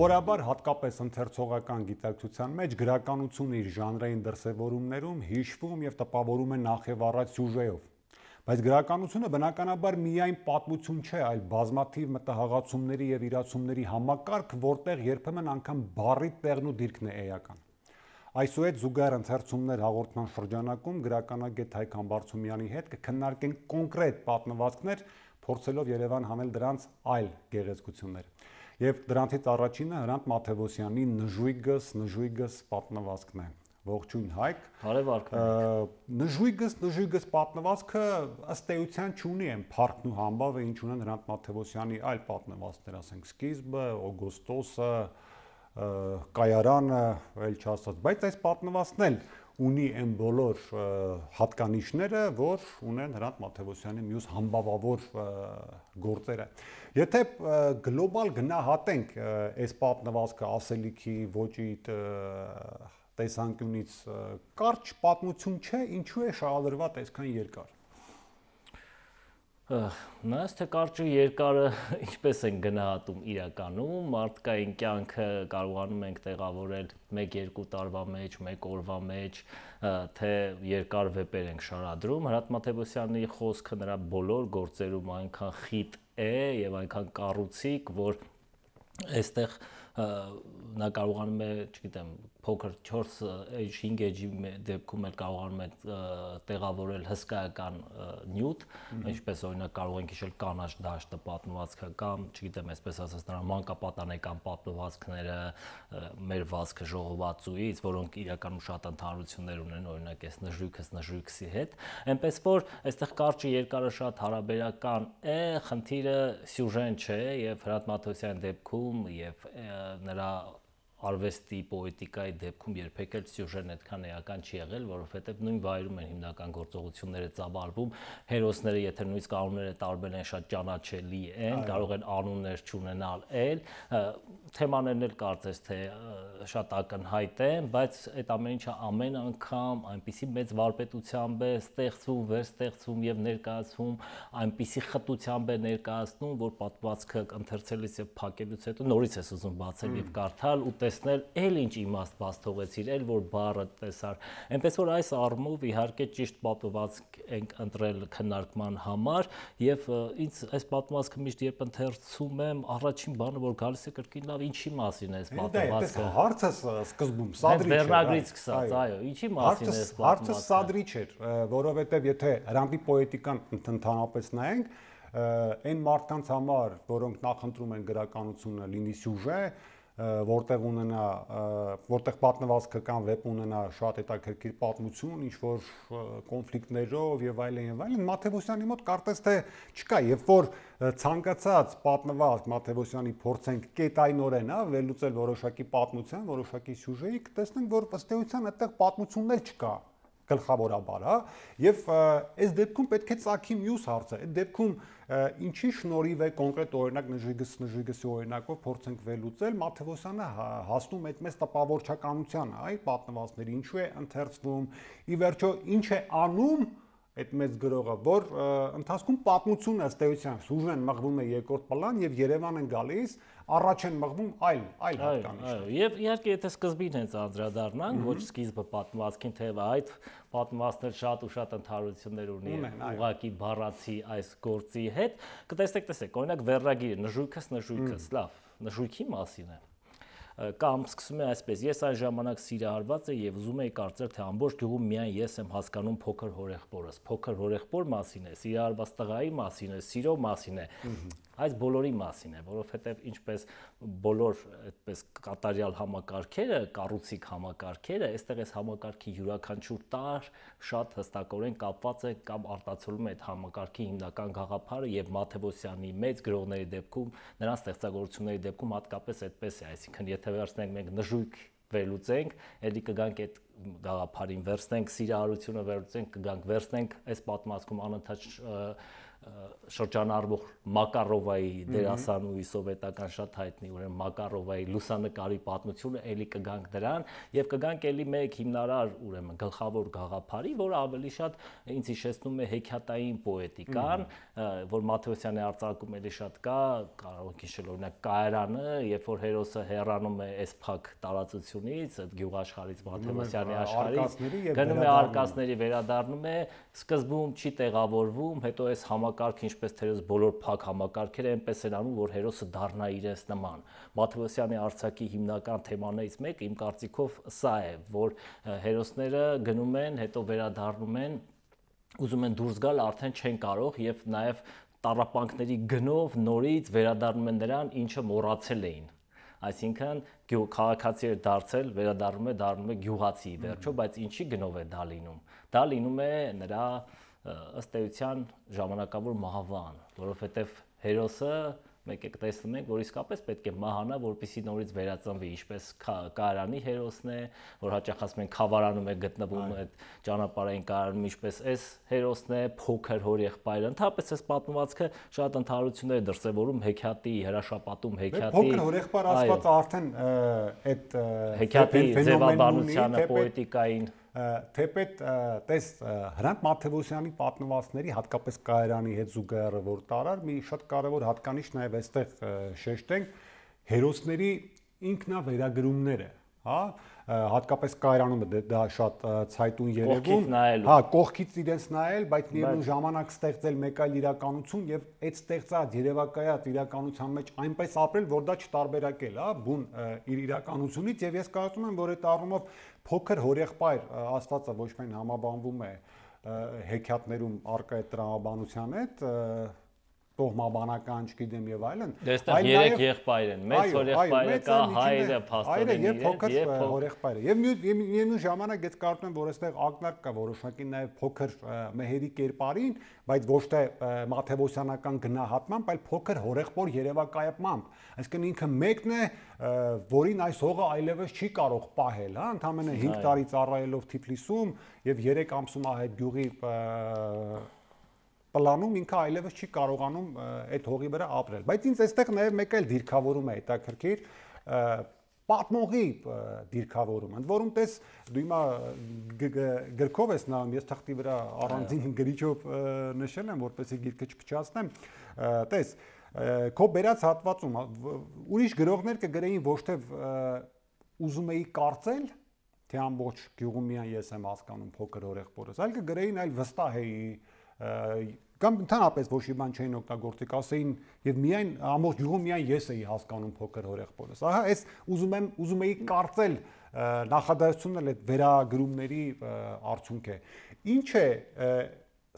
Սովորաբար հատկապես ընթերցողական գիտակցության մեջ գրականությունը իր ժանրային դրսևորումներում հիշվում եւ տպավորում է նախ եւ առաջ սյուժեով։ Բայց գրականությունը բնականաբար միայն պատմություն չէ, այլ բազմաթիվ մտահղացումների եւ իրացումների համակարգ, որտեղ երբեմն անգամ բառի տեղն ու դիրքն է էական։ Այսուհետ զուգահեռ ընթերցումներ հաղորդման շրջանակում գրականագետ Հայկ Համբարձումյանի հետ կքննարկենք կոնկրետ պատմվածքներ, փորձելով Երևան հանել դրանց այլ գեղեցկություններ։ Եվ դրանցից առաջինը Հրանտ Մաթևոսյանի Նժույգս պատմվածքն է։ Ողջույն Հայկ։ Բարև Նժույգս պատմվածքը ըստ էության չունի այն փառքն ու համբավը, ինչ ունեն Հրանտ Մաթևոսյանի այլ պատմվածքներ, ասենք Սկիզբը, Օգոստոսը, Կայարանը, այլ չասած, բայց այս պատմվածքն էլ ունի այն բոլոր հատկանիշները, որ ունեն Հրանտ Մաթևոսյանի մյուս համբավավոր գործերը։ Եթե գլոբալ գնահատենք այս պատմվածքը ասելիքի, ոճի տեսանկյունից, կարճ պատմություն չէ, ինչու է շահադրված այսքան երկար։ Նայած թե կարճը երկարը ինչպես են գնահատում իրականում, մարդկային կյանքը կարողանում ենք տեղավորել 1-2 տարվա մեջ, 1 օրվա մեջ, թե երկար վեպեր ենք շարադրում։ Հրանտ Մաթևոսյանի խոսքը նրա բոլոր գործերում այնքան խիտ է եւ այնքան կառուցիկ, որ այստեղ նա կարողանում է, չգիտեմ, փոքր 4-5 էջի դեպքում էլ կարողանում է տեղավորել հսկայական նյութ, ինչպես օրինակ կարող ենք հիշել Կանաչ դաշտը պատմվածքը կամ, չգիտեմ, այսպես ասած նրա մանկապատանեկան պատմվածքները, մեր վազքը ժողովածուից, որոնք իրականում շատ ընդհանրություններ ունեն, օրինակ այս Նժույգսի հետ, այնպես որ այստեղ կարճը երկարը շատ հարաբերական է, խնդիրը սյուժեն չէ եւ Հրանտ Մաթևոսյանի դեպքում եւ նրա արվեստի, պոետիկայի դեպքում երբեք էլ սյուժեն այդքան էական չի եղել, որովհետև նույն վայրում են հիմնական գործողությունները ծավալվում, հերոսները, եթե նույնիսկ անունները տարբեր են, շատ ճանաչելի են, կարող են անուններ չունենալ էլ, թեմաներն էլ կարծես թե շատ ակնհայտ են, բայց այդ ամեն ինչը ամեն անգամ այնպիսի մեծ վարպետությամբ է ստեղծվում, վերստեղծվում եւ ներկայացվում, այնպիսի խտությամբ է ներկայացնում, որ պատմվածքը ընթերցելիս եւ փակելուց հետո նորից ես ուզում բացել եւ կարդալ ու տեսնել, էլ ինչ իմաստ բաց թողեցիր, էլ որ բառը տեսար։ Այնպես որ այս առումով իհարկե ճիշտ պատմվածք ենք ընտրել քննարկման համար եւ ինձ այս պատմվածքը միշտ երբ ընթերցում եմ, առաջին բանը որ գալիս է կրկին լավ ինչի մասին է այս պատմվածքը։ Հարցը սկզբում սադրիչ է։ Վերնագրից սկսած, այո, ինչի մասին է այս պատմվածքը։ Հարցը սադրիչ էր, որովհետեւ եթե Հրանտի պոետիկան ընդհանրապես նայենք, այն մարդկանց համար, որոնք նախընտրում են գրականությունը լինի սյուժե, որտեղ պատմվածքը կամ վեպ ունենա շատ հետաքրքիր պատմություն, ինչ որ կոնֆլիկտներով եւ այլն, Մաթևոսյանի մոտ կարծես թե չկա, երբ որ ցանկացած պատմվածք Մաթևոսյանի փորձենք կետայնորեն, վերլուծել որոշակի պատմության, որոշակի սյուժեի, կտեսնենք, որ ըստ էության այդտեղ պատմությունն էլ չկա գլխավորաբար, եւ այս դեպքում պետք է ծագի մյուս հարցը, այդ դեպքում ինչի շնորհիվ է կոնկրետ օրինակ Նժույգսի օրինակով փորձենք վերլուծել, Մաթևոսյանը հասնում այդ մեծ տպավորչականությանը, այ պատմվածքների ինչու է ընթերցվում, ի վերջո ինչ է անում այդ մեծ գրողը, որ ընթացքում պատմությունը ըստ էության սյուժեն մղվում է երկրորդ պլան եւ Երևան են գալիս, առաջ են մղվում այլ հատկանիշներ։ Եվ իհարկե եթե սկզբին հենց անդրադառնանք, ոչ սկիզբը պատմվածքին, թեև այդ պատմվածքներ շատ ու շատ ընդհանրություններ ունի ուղղակի բառացի այս գործի հետ, կտեսնեք, օրինակ վերնագիրը Նժույգս, լավ, Նժույգի մասին է։ Կամ սկսում է այսպես, ես այն ժամանակ սիրահարված եմ եւ ուզում եի կարծել, թե ամբողջ գյուղում միայն ես եմ հասկանում փոքր հորեղբորս։ Փոքր հորեղբոր մասին է, սիրահարված տղայի մասին է, սիրո մասին է։ Այս բոլորի մասին է, որովհետեւ ինչպես բոլոր այդպես կատարյալ համակարգերը, կառուցիկ համակարգերը, այստեղ այս համակարգի յուրաքանչյուր տար շատ հստակորեն կապված է կամ արտացոլում է այդ համակարգի հիմնական գաղափարը եւ Մաթևոսյանի մեծ գրողների դեպքում, նրանց ստեղծագործությունների դեպքում հատկապես այդպես է, այսինքն եթե վերցնենք մենք Նժույգ վերլուծենք, ելի կգանք այդ գաղափարին վերցնենք սիրահարությունը վերցնենք կգանք վերցնենք այս պատմվածքում անընդհատ շրջանառվող Մակարովայի դերասանուհի սովետական շատ հայտնի ուրեմն Մակարովայի լուսանկարի պատմությունը էլի կգանք դրան եւ կգանք էլի մեկ հիմնարար ուրեմն գլխավոր գաղափարի, որը ավելի շատ ինձ հիշեցնում է հեքիաթային պոետիկան, որ Մաթեոսյանի արձակում էլի շատ կա, կարող եք հիշել օրինակ Կայարանը, երբ որ հերոսը հեռանում է այս փակ տարածությունից, այդ գյուղաշխարհից Մաթեոսյանի աշխարհից, գնում է արկածների վերադառնում է, սկզբում չի տեղավորվում, հետո այս համակարգը ինչպես թերևս բոլոր փակ համակարգերը այնպես են անում, որ հերոսը դառնա իրենց նման։ Մաթեոսյանի արձակի հիմնական թեմաներից մեկը իմ կարծիքով սա է, որ հերոսները գնում են, հետո վերադառնում են, ուզում են դուրս գալ, արդեն չեն կարող եւ նաեւ տառապանքների գնով նորից վերադառնում են նրան, ինչը մոռացել էին։ Այսինքն քաղաքացի է դարձել, դառնում է գյուղացի վերջո, բայց ինչի գնով է դա լինում։ Դա լինում է նրա ըստ էության ժամանակավոր մահվան, որովհետև հերոսը մեկ եք տեսնում ենք, որ իսկապես պետք է մահանա, որպեսզի նորից վերածնվի, ինչպես Կայարանի հերոսն է, որ հաճախ ասում են Խավարանում է գտնվում այդ ճանապարհային Կայարանում, ինչպես այս հերոսն է, փոքր հորեղբայրը։ Ընդհանրապես այս պատմվածքը շատ ընդհանրություններ է դրսևորում հեքիաթի հրաշապատում, հեքիաթի փոքր հորեղբայր ասվածը արդեն այդ հեքիաթի ձևաբանությանը, պոետիկային թեպետ տես Հրանտ Մաթեոսյանի պատմվածքների հատկապես Կայարանի հետ զուգահեռը որ տարար մի շատ կարևոր հատկանիշ նաև այստեղ շեշտենք հերոսների ինքնավերագրումները, հա, հատկապես Կայարանում դա շատ ցայտուն երևում, հա, կողքից իրենց նայել, բայց միևնույն ժամանակ ստեղծել մեկ այլ իրականություն եւ այդ ստեղծած երևակայած իրականության մեջ այնպես ապրել, որ դա չտարբերակել, հա, բուն իր իրականությունից եւ ես կարծում եմ, որ այդ առումով փոքր հորեղբայր աստվածը ոչ միայն համաբանվում է հեքիաթներում առկա այդ տրամաբանության հետ, տոհմաբանական, չգիտեմ եւ այլն, այլ երեք եղբայր են, մեծ հորեղբայրը կա, հայրը, փաստորեն եւ փոքր հորեղբայրը։ Եվ միևնույն ժամանակ ես կարծում եմ, որ այստեղ ակնարկ կա որոշակի նաեւ փոքր մեհերի կերպարին, բայց ոչ թե մաթեոսյանական գնահատմամբ, այլ փոքր հորեղբոր երևակայությամբ։ Այսինքն ինքը մեկն է, որին այս հողը այլևս չի կարող պահել, հա, ընդամենը 5 տարի ծառայելով Թիֆլիսում եւ 3 ամսում այդ գյուղի պլանում ինքը այլևս չի կարողանում այդ հողի վրա ապրել, բայց ինձ այստեղ նաև մեկ այլ դիրքավորում է հետաքրքիր պատմողի դիրքավորումը, ընդ որում տես դու հիմա գրքով ես նայում, ես թղթի վրա առանձին գրիչով նշել եմ, որպեսզի գիրքը չփչացնեմ, տես քո բերած հատվածում ուրիշ գրողներ կգրեին ոչ թե ուզում էի կարծել, թե ամբողջ գյուղում միայն ես եմ հասկանում փոքր հորեղբորս, այլ կգրեին այլ վստահ էի կամ ընդհանրապես ոչ մի բան չէին օգտագործի, ասեին եւ միայն ամբողջ գյուղում միայն ես էի հասկանում փոքր հորեղբորս։ Ահա այս ուզում էի կարծել նախադասությունն էլ այդ վերագրումների արդյունք է։ Ինչ է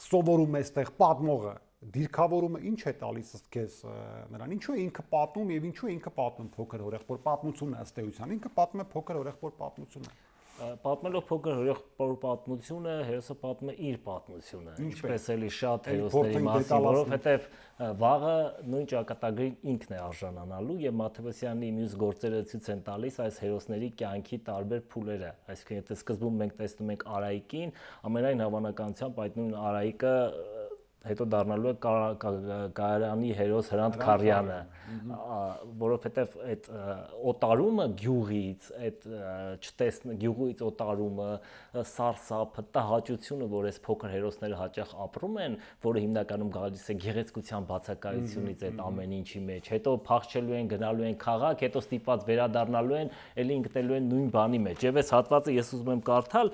սովորում այստեղ պատմողը, դիրքավորումը ինչ է տալիս քեզ նրան, ինչու է ինքը պատմում եւ ինչու է ինքը պատմում փոքր հորեղբոր պատմությունը ըստ էության, ինքը պատմում է փոքր հորեղբոր պատմությունը։ Պատմելով փոքր հորեղբոր պատմությունը, հերոսը պատմում է իր պատմությունը, ինչպես էլի շատ հերոսների մասին, որովհետև վաղը նույն ճակատագրին ինքն է արժանանալու եւ Մաթեոսյանի մյուս գործերը ցույց են տալիս այս հերոսների կյանքի տարբեր փուլերը։ Այսինքն եթե սկզբում մենք տեսնում ենք Արայիկին, ամենայն հավանականությամբ այդ նույն Արայիկը հետո դառնալու է Կայարանի հերոս Հրանտ Քարյանը, որովհետև այդ օտարումը գյուղից, այդ գյուղից օտարումը, սարսափը, տհաճությունը, որ այս փոքր հերոսները հաճախ ապրում են, որը հիմնականում գալիս է գեղեցկության բացակայությունից այդ ամեն ինչի մեջ, հետո փախչելու են, գնալու են քաղաք, հետո ստիպված վերադառնալու են, ելի ընկնելու են նույն բանի մեջ։ Եվ այս հատվածը ես ուզում եմ կարդալ,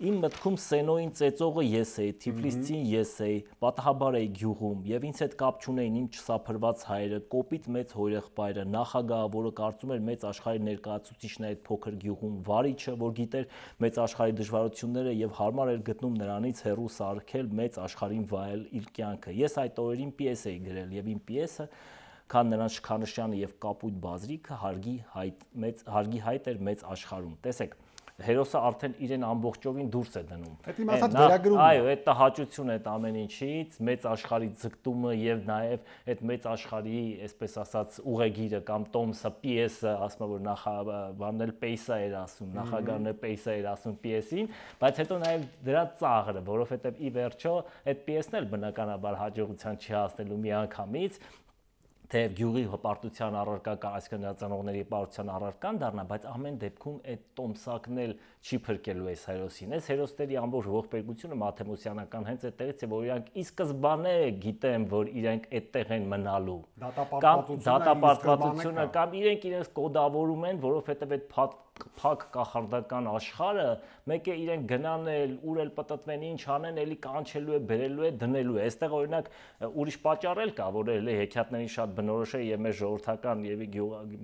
իմ մտքում Սենոյին ծեծողը ես էի, Թիֆլիսցին ես էի, պատահաբար էի գյուղում եւ ինձ հետ կապ չունեին իմ չսափրված հայրը, կոպիտ մեծ հորեղբայրը, նախագահը, որը կարծում էր մեծ աշխարհի ներկայացուցիչն է այդ փոքր գյուղում, վարիչը, որ գիտեր մեծ աշխարհի դժվարությունները եւ հարմար էր գտնում նրանից հեռու սարքել մեծ աշխարհին վայել իր կյանքը։ Ես այդ օրերին պիես էի գրել եւ իմ պիեսը քան նրանց շքանշյանը եւ կապույտ բազրիքը հարգի հայտ էր մեծ աշխարհում։ Տեսեք, հերոսը արդեն իրեն ամբողջովին դուրս է դնում։ Այդ իմ ասած վերագրումն է։ Այո, այդ տհաճությունը այդ ամեն ինչից, մեծ աշխարհի ձգտումը եւ նաեւ այդ մեծ աշխարհի, այսպես ասած, ուղեգիրը կամ տոմսը, պիեսը, ասում որ նախաբանել պեյսա էր ասում, նախագահն է պեյսա էր ասում պիեսին, բայց հետո նաեւ դրա ծաղրը, որովհետեւ ի վերջո այդ պիեսն էլ բնականաբար հաջողության չի հասնելու միանգամից, թեև գյուղի հպարտության առարկա կա, այսինքն ծնողների հպարտության առարկան դառնա, բայց ամեն դեպքում այդ տոմսակն էլ չի փրկելու այս հերոսին։ Այս հերոսների ամբողջ ողբերգությունը մաթեմոսյանական հենց այդտեղից է, որ իրանք ի սկզբանե գիտեն, որ իրենք այդտեղ են մնալու։ Դատապարտվածությունը կամ իրենք իրենց կոդավորում են, որովհետև այդ փակ կախարդական աշխարհը մեկ է իրենք գնանել, ուր էլ պտտվեն, ինչ անեն, էլի կանչելու է, բերելու է, դնելու է։ Այստեղ օրինակ ուրիշ պատճառ էլ կա, որ էլի հեքիաթների շատ բնորոշ է եւ մեր ժողովրդական եւ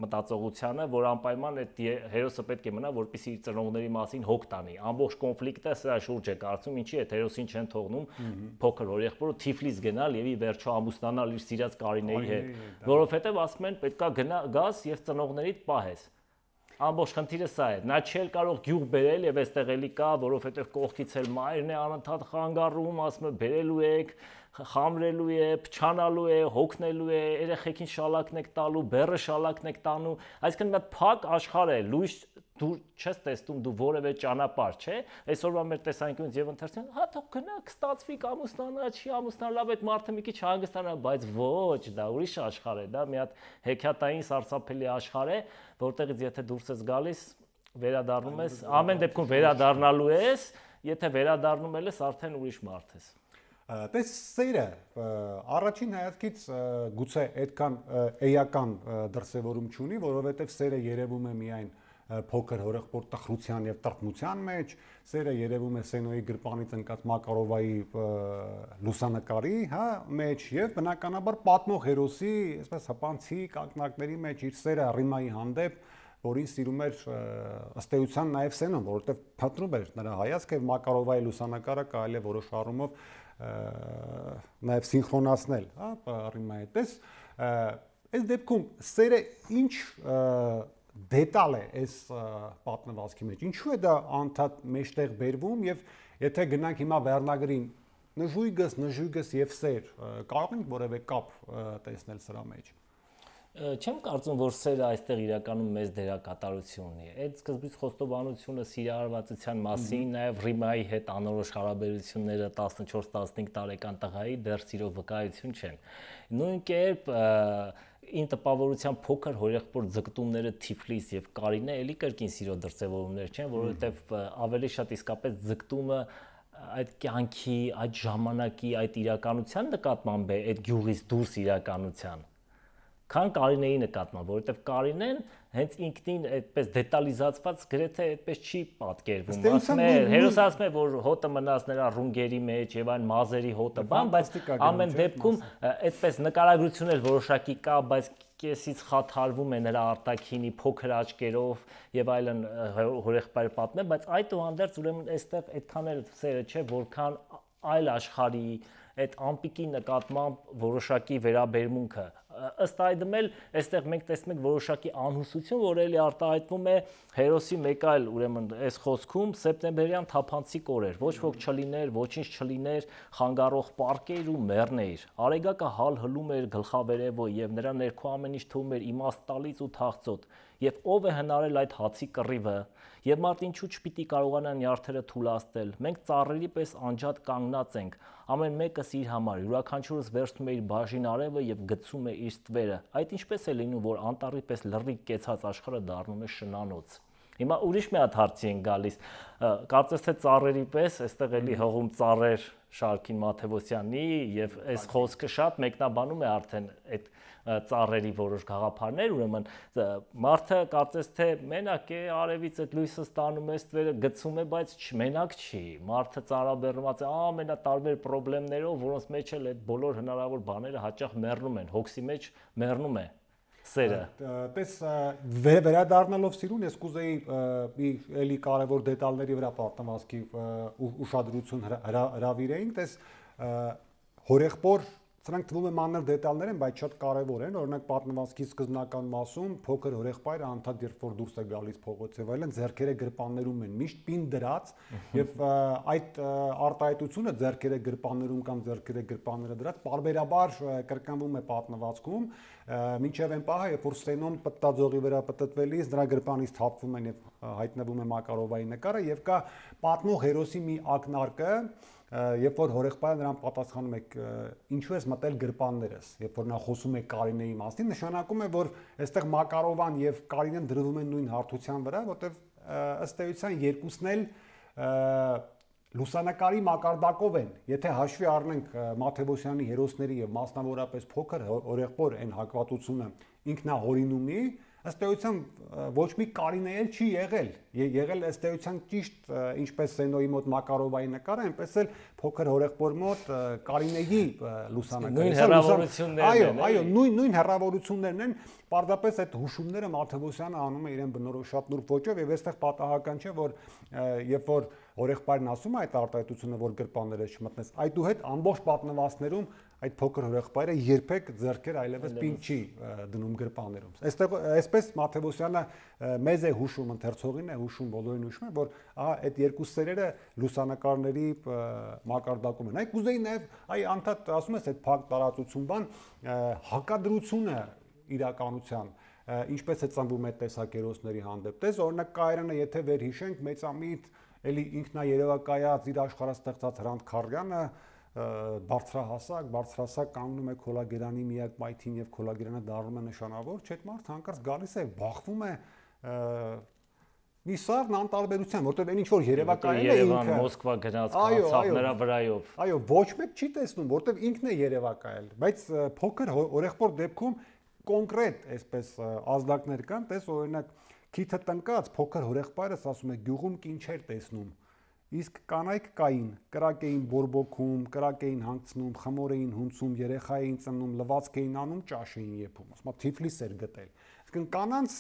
մտածողությանը, որ անպայման այդ հերոսը պետք է մնա, որպեսզի իր ծնողների մասին հոգ տանի։ Ամբողջ կոնֆլիկտը սրա շուրջ է կարծում, ինչի այդ հերոսին չեն թողնում փոքր օրեղբորը Թիֆլիս գնալ եւ ի վերջո ամուսնանալ իր սիրած Կարինեի հետ, որովհետեւ ասում են պետքա գաս եւ ծնողներիդ պահես։ Ամբողջ խնդիրը սա է։ Նա չի կարող գյուղ բերել եւ այստեղ էլի կա, որովհետեւ կողքից էլ մայրն է անընդհատ խանգարում, ասում է բերելու եք, խամրելու է, փչանալու է, հոգնելու է, երեխեքին շալակն եք տալու, բեռը շալակն եք տանում։ Այսինքն մի փակ աշխարհ է, լույս դու չես տեսնում դու որևէ ճանապարհ, չէ։ Այսօրվա մեր տեսանկյունից եւ ընթերցին, հա թող գնաք, ստացվի ամուսնանա, չի ամուսնանա, լավ այդ մարդը մի քիչ հանգստանա, բայց ոչ, դա ուրիշ աշխարհ է, դա մի հատ հեքիաթային սարսափելի աշխարհ է, որտեղից եթե դուրս ես գալիս, վերադառնում ես, ամեն դեպքում վերադառնալու ես, եթե վերադառնում ես, արդեն ուրիշ մարդ ես։ Տես սերը առաջին հայացքից գուցե այդքան էական դրսևորում չունի, որովհետև սերը երևում է միայն փոքր հորեղբոր տխրության եւ տրտմության մեջ, սերը երևում է Սենոյի գրպանից ընկած Մակարովայի լուսանկարի, հա, մեջ եւ բնականաբար պատմող հերոսի, այսպես հպանցիկ ակնարկների մեջ իր սերը Ռիմայի հանդեպ, որին սիրում էր ըստ էության նաեւ Սենոն, որովհետեւ փնտրում էր նրա հայացքը եւ Մակարովայի լուսանկարը կարելի է որոշ առումով նաև սինխրոնացնել, հա, Ռիմայի պես, այս դեպքում սերը ինչ դետալ է այս պատմվածքի մեջ, ինչու է դա անդադ մեջտեղ բերվում եւ եթե գնանք հիմա վերնագրին նժույգս եւ սեր, կարող ենք որևէ կապ տեսնել սրա մեջ։ Չեմ կարծում, որ սերը այստեղ իրականում մեծ դերակատարություն ունի։ Այդ սկզբից խոստովանությունը սիրահարվածության մասին, նաև Ռիմայի հետ անորոշ հարաբերությունները 14-15 տարեկան տղայի դեռ սիրո վկայություն չեն։ Նույն կերպ ին տպավորության փոքր հորեղբոր ձգտումները Թիֆլիս եւ Կարինե էլի կրկին սիրո դրսևորումներ չեն, որովհետեւ ավելի շատ իսկապես ձգտումը այդ կյանքի, այդ ժամանակի, այդ իրականության նկատմամբ է, այդ գյուղից դուրս իրականության։ Քան Կարինեի նկատմամբ, որովհետև Կարինեն հենց ինքնին այդպես դետալիզացված գրեթե այդպես չի պատկերվում։ Ասում է, հերոսը ասում է, որ հոտը մնաց նրա ռունգերի մեջ եւ այն մազերի հոտը, բայց ամեն դեպքում այդպես նկարագրություն էլ որոշակի կա, բայց կեսից խաթարվում է նրա արտաքինի փոքր աչքերով եւ այլն հորեղբայր պատմել, բայց այդուհանդերձ ուրեմն այստեղ այդքան էլ սերը չէ, որքան այլ աշխարհի այդ ամպիկի նկատմամբ որոշակի վերաբերմունքը ըստ այդմ էլ այստեղ մենք տեսնում ենք որոշակի անհուսություն, որ էլի արտահայտվում է հերոսի մեկ այլ ուրեմն այս խոսքում սեպտեմբերյան թափանցիկ օրեր, ոչ ոք չլիներ, ոչինչ չլիներ, խանգարող պարկեր ու մեռներ, արեգակը հալ հլում էր գլխավերևով եւ նրա ներքո ամեն ինչ թվում էր իմաստ տալից ու թախծոտ, եւ ով է հնարել այդ հացի կռիվը, եւ մարդ ինչու չպիտի կարողանա նյարդերը թուլացնել, մենք ծառերի պես անջատ կանգնած ենք, ամեն մեկս իր համար, յուրաքանչյուրս վերցնում է իր բաժին արևը եւ գցում է իր ստվերը, այդ ինչպես է լինում, որ անտառի պես լրիվ կեցած աշխարհը դառնում է շնանոց։ Հիմա ուրիշ մի հատ հարցի են գալիս, կարծես թե ծառերի պես, այստեղ էլի հողում ծառեր Շարքին Մաթևոսյանի եւ այս խոսքը շատ մեկնաբանում է արդեն այդ ծառերի որոշ գաղափարներ, ուրեմն մարդը կարծես թե մենակ է արևից այդ լույսը ստանում է, ստվերը գցում է, բայց մենակ չի։ Մարդը ծառաբեռնված է ամենատարբեր խնդիրներով, որոնց մեջ էլ այդ բոլոր հնարավոր բաները հաճախ մեռնում են, հոգսի մեջ մեռնում է սերը։ Պես վերադառնալով սիրուն, ես կուզեի էլի կարևոր դետալների վրա պատմվածքի ուշադրություն հրավիրեինք, տես հորեղբոր Սրանք թվում է մանր դետալներ են, բայց շատ կարևոր են։ Օրինակ պատմվածքի սկզբնական մասում փոքր հորեղբայրը անդադ երբ որ դուրս է գալիս փողոց եւ այլն, ձեռքերը գրպաններում են միշտ պին դրած եւ այդ արտահայտությունը ձեռքերը գրպաններում կամ ձեռքերը գրպանները դրած պարբերաբար կրկնվում է պատմվածքում, մինչեւ այն պահը, երբ որ Սենոն պտտաձողի վրա պտտվելիս նրա գրպանից թափվում են եւ հայտնվում է Մակարովայի նկարը եւ կա պատմող հերոսի մի ակնարկը, երբ որ հորեղբայրը նրան պատասխանում է ինչու ես մտել գրպաններս, երբ որ նա խոսում է Կարինեի մասին, նշանակում է, որ այստեղ Մակարովան եւ Կարինեն դրվում են նույն հարթության վրա, որտեղ ըստ էության երկուսն էլ լուսանկարի մակարդակով են։ Եթե հաշվի առնենք Մաթեոսյանի հերոսների եւ մասնավորապես փոքր հորեղբոր այն հակվածությունը ինքնահորինումի, ըստ էության ոչ մի Կարինե էլ չի եղել ըստ էության ճիշտ ինչպես Սենոյի մոտ Մակարովայի նկարը, այնպես էլ փոքր հորեղբոր մոտ Կարինեի լուսանկարը։ Այո, նույն հեռավորություններն են, պարզապես այդ հուշումները Մաթեոսյանը անում է իրեն բնորոշ նուրբ ոճով եւ այստեղ պատահական չէ, որ երբ որ հորեղբայրն ասում է այդ արտահայտությունը, որ գրպանները չմտնես, այդուհետ ամբողջ պատմվածքներում այդ փոքր հորեղբայրը երբեք ձեռքեր այլևս պին չի դնում գրպաններում։ Այստեղ այսպես Մաթեոսյանը մեզ է հուշում, ընթերցողին է հուշում, բոլորին հուշում է, որ ահա այդ երկու սերերը լուսանկարների մակարդակում են։ Այ կուզեի նաև այ անդադ ասում ես այդ փակ տարածություն բան հակադրությունը իրականության ինչպես է ծնվում այդ տեսակերոսների հանդեպ։ Տես օրինակ Կայրանը, եթե վերհիշենք մեծամիտ էլի ինքնաերևակայած իր աշխարհաստեղծած Հրանտ Քարյանը բարձրահասակ կանգնում է Քոլագերանի միակ մայթին եւ Քոլագերանը դառնում է նշանավոր, չէ՞ մարդ հանկարծ գալիս է բախվում է մի սարն անտարբերության, որտեղ այն ինչ որ երևակայել է ինքը Մոսկվա գնաց խաղացավ նրա վրայով։ Այո, ոչ մեկ չի տեսնում, որտեղ ինքն է երևակայել, բայց փոքր օրեղբոր դեպքում կոնկրետ այսպես ազդակներ կան, տես օրինակ քիթը տնկած փոքր հորեղբայրս ասում է գյուղում կին չէր տեսնում, իսկ կանայք կային, կրակ էին բորբոքում, կրակ էին հանգցնում, խմոր էին հունցում, երեխա էին ծննում, լվացք էին անում, ճաշ էին եփում, ասում Թիֆլիս էր գտել։ Իսկ կանանց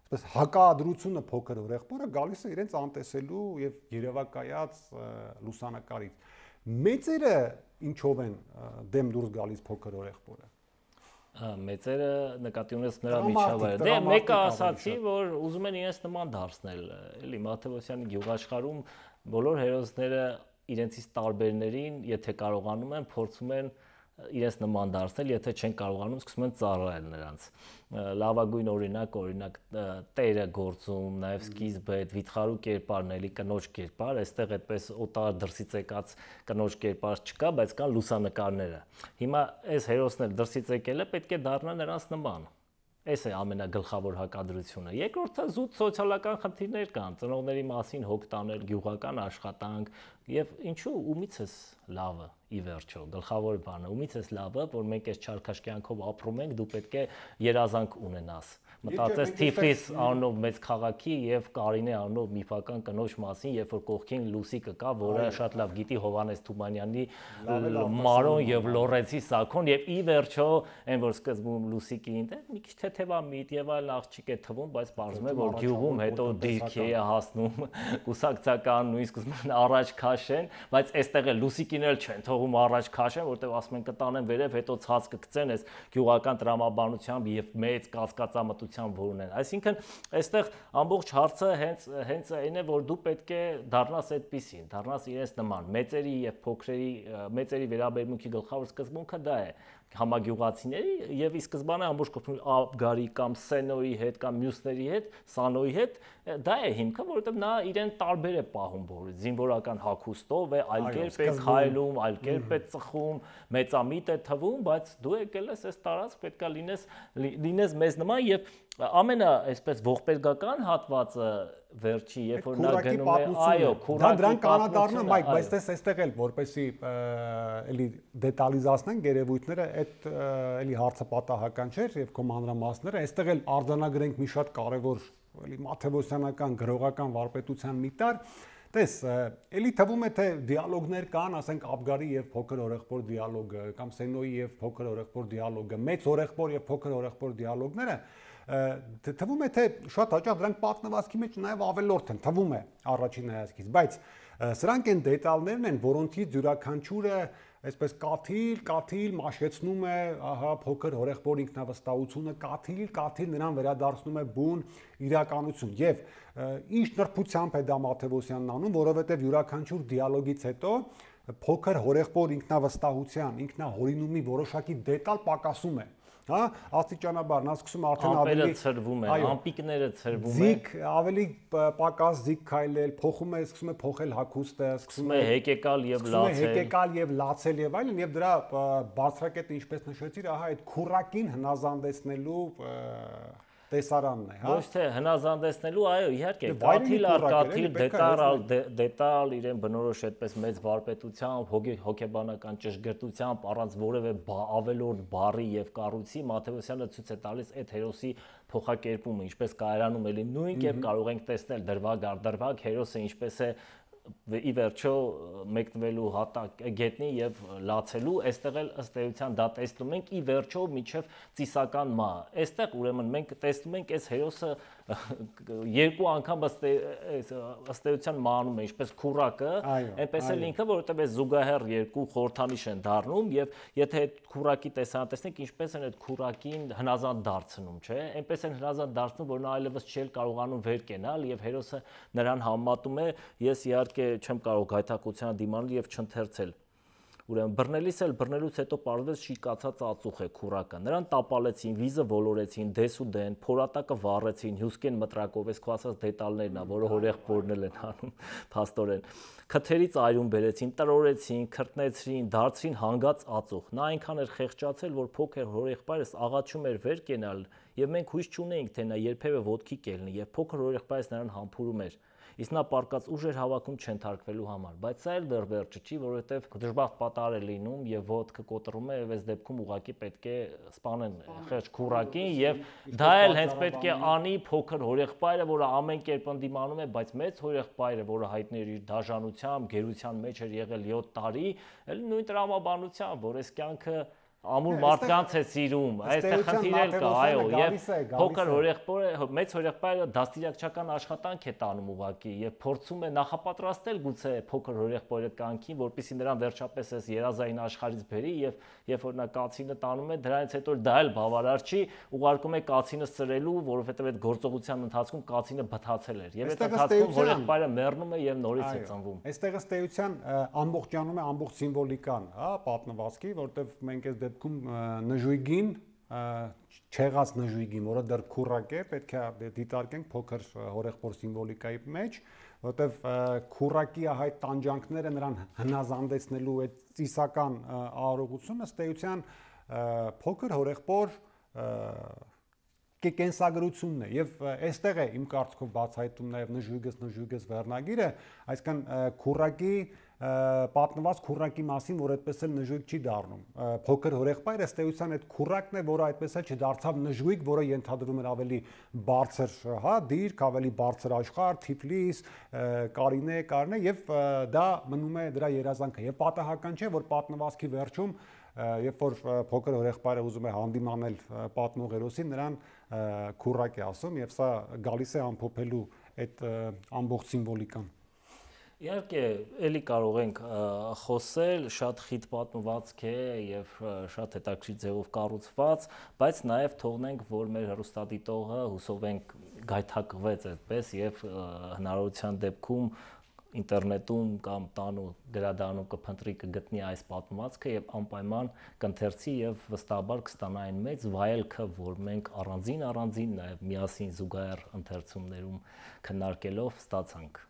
այսպես հակադրությունը փոքր հորեղբորը գալիս է իրենց անտեսելու եւ երևակայած լուսանկարից։ Մեծերը ինչով են դեմ դուրս գալիս փոքր հորեղբորը։ Մեծերը նկատի ունես նրա միջավայրը։ Դե մեկը ասացի, որ ուզում են իրենց նման դարձնել, էլի Մաթեոսյանի գյուղաշխարհում բոլոր հերոսները իրենցից տարբերներին, եթե կարողանում են, փորձում են իրենց նման դարձնել, եթե չեն կարողանում, սկսում են ծառայել նրանց։ Լավագույն օրինակ տերը գործում, նաև սկիզբը այդ վիթխարու կերպարն էլի կնոջ կերպար, այստեղ այդպես օտար դրսից եկած կնոջ կերպար չկա, բայց կան լուսանկարները։ Հիմա այս հերոսն էլ դրսից եկել է, պետք է դառնա նրանց նման։ Այս է ամենագլխավոր հակադրությունը։ Երկրորդը զուտ սոցիալական խնդիրներ կան, ծնողների մասին հոգ տանել, գյուղական աշխատանք եւ ինչու ումից էս լավը ի վերջո գլխավոր բանը ումից էս լավը, որ մենք այս չարքաշ կյանքով ապրում ենք, դու պետք է երազանք ունենաս։ Մտածես Թիֆլիս անունով մեծ քաղաքի եւ Կարինե անունով միֆական կնոջ մասին, երբ որ կողքին Լուսիկը կա, որը շատ լավ գիտի Հովանես Թումանյանի Մարոն եւ Լորենցի Սաքոն եւ ի վերջո այն որ սկզբում Լուսիկին դե մի քիչ թեթևամիտ եւ այլ աղջիկ է թվում, բայց պարզվում է որ գյուղում հետո դիրքի է հասնում կուսակցական նույնիսկ սկզբում առաջ քաշեն, բայց այստեղ է Լուսիկին էլ չեն թողում առաջ քաշեն, որտեղ ասում են կտանեն վերև, հետո ցած կգցեն այս գյուղական տրամաբանությամբ եւ մեծ կասկածամտությամբ որ ունեն։ Այսինքն այստեղ ամբողջ հարցը հենց այն է, որ դու պետք է դառնաս այդպեսին, դառնաս իրենց նման։ Մեծերի եւ փոքրերի մեծերի վերաբերմունքի գլխավոր սկզբունքը դա է համագյուղացիների եւ ի սկզբանե ամբողջ կողմի Աբգարի կամ Սենոյի հետ կամ մյուսների հետ, Սանոյի հետ, դա է հիմքը, որովհետեւ նա իրեն տարբեր է պահում բոլորից, զինվորական հագուստով է, այլ կերպ է քայլում, այլ կերպ է ծխում, մեծամիտ է թվում, բայց դու եկել ես այս տարածք, պետքա լինես մեզ նման եւ ամենա այսպես ողբերգական հատվածը վերջի, երբ որ նա գնում է, այո, դա դրան կանադառնա, Մայք, բայց տես այստեղ էլ որպեսի էլի դետալիզացնենք երևույթները, այդ էլի հարցը պատահական չէր եւ քո մանրամասները, այստեղ էլ արձանագրենք մի շատ կարեւոր էլի մաթեոսյանական գրողական վարպետության մի տար։ Տես, էլի թվում է թե դիալոգներ կան, ասենք Աբգարի եւ փոքր օրեղբոր դիալոգը կամ Սենոյի եւ փոքր օրեղբոր դիալոգը, մեծ օրեղբոր եւ փոքր օրեղբոր դիալոգները թվում է թե շատ հաճախ դրանք պատմվածքի մեջ նաև ավելորդ են, թվում է առաջին հայացքից, բայց Սրանք են դետալներն են, որոնցից յուրաքանչյուրը այսպես կաթիլ մաշեցնում է, ահա փոքր հորեղբոր ինքնավստահությունը, կաթիլ նրան վերադարձնում է բուն իրականություն։ Եվ ինչ նրբությամբ է դա Մաթեոսյանն անում, որովհետև յուրաքանչյուր դիալոգից հետո փոքր հորեղբոր ինքնավստահության, ինքնահորինումի որոշակի դետալ պակասում է։ Հա, աստիճանաբար նա սկսում արդեն ավելի ծրվում է, ամպիկները ծրվում են։ Զիգ ավելի պակաս զիգ քայլել, սկսում է փոխել հագուստը, սկսում է հեկեկալ եւ լացել եւ այլն, եւ դրա բարձրակետը ինչպես նշեցիր, ահա այդ քուրակին հնազանդեցնելու տեսարանն է, հա։ Ոչ թե հնազանդեցնելու, այո, իհարկե, կաթիլ, դետալ իրեն բնորոշ այդպես մեծ վարպետությամբ, հոգեբանական ճշգրտությամբ, առանց որևէ ավելորդ բառի եւ կառույցի Մաթեոսյանը ցույց է տալիս այդ հերոսի փոխակերպումը, ինչպես կայարանում էլի նույն կերպ կարող ենք տեսնել դրվագ առ դրվագ հերոսը ինչպես է ի վերջո մեկնվելու հատակ գետնի եւ լացելու, այստեղ էլ ըստ էության դա տեսնում ենք ի վերջո միջև ծիսական մահ։ Այստեղ ուրեմն մենք տեսնում ենք այս հերոսը երկու անգամ ըստ էության մահանում է, ինչպես քուրակը, այնպես էլ ինքը, որովհետեւ այս զուգահեռ երկու խորհրդանիշ են դառնում եւ եթե այդ քուրակի տեսանը տեսնենք, ինչպես են այդ քուրակին հնազանդ դարձնում, չէ՞։ Այնպես են հնազանդ դարձնում, որ նա այլևս չի կարողանում վեր կենալ եւ հերոսը նրան համատում է, ես իհարկե չեմ կարող գայթակղությանը դիմանալ եւ չընթերցել։ Ուրեմն բռնելուց հետո պարզվեց շիկացած ածուխ է քուրակը։ Նրան տապալեցին, վիզը ոլորեցին, դես ու դեն, փորատակը վառեցին, հյուսկեն մտրակով, այս քո ասած դետալներն ա, որը հորեղբորն են անում փաստորեն։ Քթերից այրուն բերեցին, տրորեցին, քրտնեցրին, դարձրին հանգած ածուխ։ Նա այնքան էր խեղճացել, որ փոքր հորեղբայրս աղաչում էր վեր կենալ, եւ մենք հույս չունեինք, թե նա երբևէ ոտքի կելնի, եւ փոքր հորեղբայրս նրան համբուրում էր։ Իսկ նա պարկած ուժ էր հավաքում չընթարկվելու համար, բայց սա էլ դեռ վերջը չի, որովհետև դժբախտ պատահար է լինում եւ ոտքը կոտրում է եւ այս դեպքում ուղղակի պետք է սպանեն խեղճ քուրակին եւ դա էլ հենց պետք է անի փոքր հորեղբայրը, որը ամեն կերպ ընդդիմանում է, բայց մեծ հորեղբայրը, որը հայտնի էր իր դաժանությամբ, գերության մեջ էր եղել 7 տարի, էլ նույն տրամաբանությամբ, որ այս կյանքը ամուր մարդկանց է սիրում, այստեղ խնդիր էլ կա, այո, եւ փոքր հորեղբայրը, մեծ հորեղբայրը դաստիարակչական աշխատանք է տանում ուղղակի եւ փորձում է նախապատրաստել գուցե փոքր հորեղբայրը կյանքին, որպեսզի նրան վերջապես այս երազային աշխարհից բերի եւ երբ որ նա կացինը տանում է, դրանից հետո դա էլ բավարար չի, ուղարկում է կացինը սրելու, որովհետեւ այդ գործողության ընթացքում կացինը բթացել էր եւ այդ ընթացքում հորեղբայրը մեռնում է եւ նորից է ծնվում։ Այստեղ ըստ էության ամբողջանում է ամբողջ սիմվոլիկան, հա, պատմվածքի, որտեղ մենք այս դեպքում նժույգին չեղած նժույգին, որը դեռ քուրակ է, պետք է դիտարկենք փոքր հորեղբոր սիմվոլիկայի մեջ, որտեղ քուրակի այդ տանջանքները նրան հնազանդեցնելու այդ ծիսական արարողությունը ըստ էության փոքր հորեղբոր կենսագրությունն է եւ այստեղ է իմ կարծիքով բացահայտում նաեւ նժույգս վերնագիրը, այսինքն քուրակի պատմված քուրակի մասին, որ այդպես էլ նժույգ չի դառնում։ Փոքր հորեղբայրը ըստ էության այդ քուրակն է, որը այդպես էլ չդարձավ նժույգ, որը ենթադրում էր ավելի բարձր, հա, դիրք, ավելի բարձր աշխարհ, Թիֆլիս, Կարինե եւ դա մնում է դրա երազանքը։ Եվ պատահական չէ, որ պատմվածքի վերջում երբ որ փոքր հորեղբայրը ուզում է հանդիմանել պատմող հերոսին, նրան քուրակ է ասում եւ սա գալիս է ամփոփելու այդ ամբողջ սիմվոլիկան։ Իհարկե, էլի կարող ենք խոսել, շատ խիտ պատմվածք է եւ շատ հետաքրքիր ձևով կառուցված, բայց նաեւ թողնենք, որ մեր հեռուստադիտողը հուսով ենք գայթակղվեց այդպես եւ հնարավորության դեպքում ինտերնետում կամ տանու գրադարանում կփնտրի կգտնի այս պատմվածքը եւ անպայման կընթերցի եւ վստահաբար կստանա այն մեծ վայելքը, որ մենք առանձին նաեւ միասին զուգահեռ ընթերցումներում քննարկելով ստացանք։